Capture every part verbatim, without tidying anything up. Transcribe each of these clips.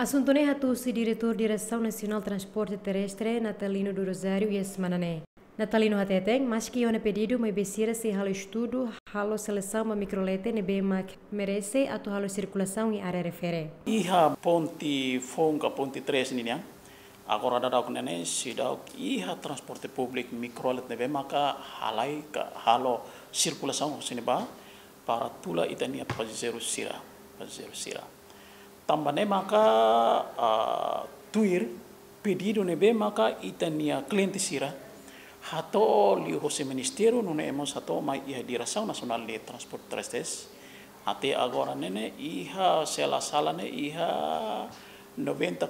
Asuntu ne'e hatusi Diretór Diresaun Nasionál Transporte Terrestre, Natalino do Rosário, iha semana ne'e. Natalino hateten, maski iha ona pedidu, maibé sira sei halo estudu, halo selesaun ba mikrolete ne'ebé mak merese atu halo sirkulasaun iha área refere. Iha ponte foun ka ponte três ninian, agora daudauk ne'e ne'e seidauk iha transporte públiku mikrolete ne'ebé maka halai ka halo sirkulasaun husi ne'ebá para tula ita-nia pasajeiru sira, pasajeiru sira. Tanba ne'e maka, ah, tuir pedidu ne'ebé maka ita-nia kliente sira hato'o liuhosi ministériu, nune'e mós hato'o mai iha Diresaun Nasionál de Transporte Terrestre. Até agora ne'e ne'e iha, se la sala ne'e iha noventa e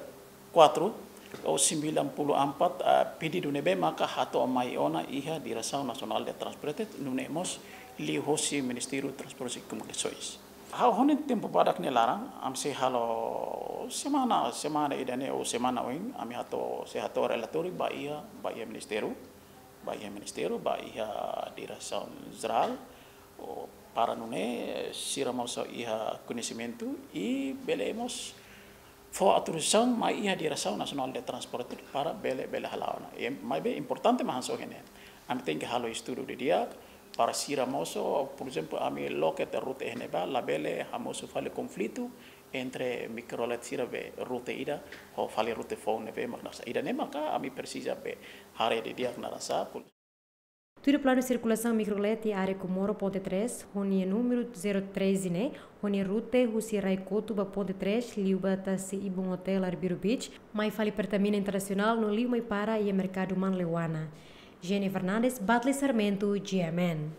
quatro ou sembilan puluh empat, ah, pedidu ne'ebé maka hato'o mai ona iha Diresaun Nasionál de Transporte, nune'e mós liuhosi Ministériu Transportes e Comunicações. Ha'u hanoin tempu badak ne'e laran, ami sei halo semana, semana ida-ne'e ou semana oin, ami hato'o, sei hato'o relatóriu ba iha, ba iha ministériu, ba iha ministériu, ba iha Diresaun Jerál, ou para nune'e sira mós iha koñesimentu i bele mós fó autorizasaun mai iha Diresaun Nasionál de Transporte para bele, bele hala'o ona. I maibé importante mak hanesan ohin ne'e. Ami tenke halo estudu didi'ak para sira mosu, por ezemplu, ami loke tiha rute iha ne'ebá, labele hamosu fali konflitu entre mikrolete sira be rute ida ho fali rute foun ne'ebé mak hanesan. Ida-ne'e maka ami presiza be haree didi'ak hanesan. Tuir planu sirkulasaun mikrolete iha área Comoro ponte três, ho nia númeru zero três ne'e, ho nia rute husi Rai Kotu ba ponte três, liu ba tasi ibun hotel Arbiru Beach, mai fali Pertamina Internasionál no liu mai para iha merkadu Manleuana. Jenny Fernandes, Batli Sarmento, G M N.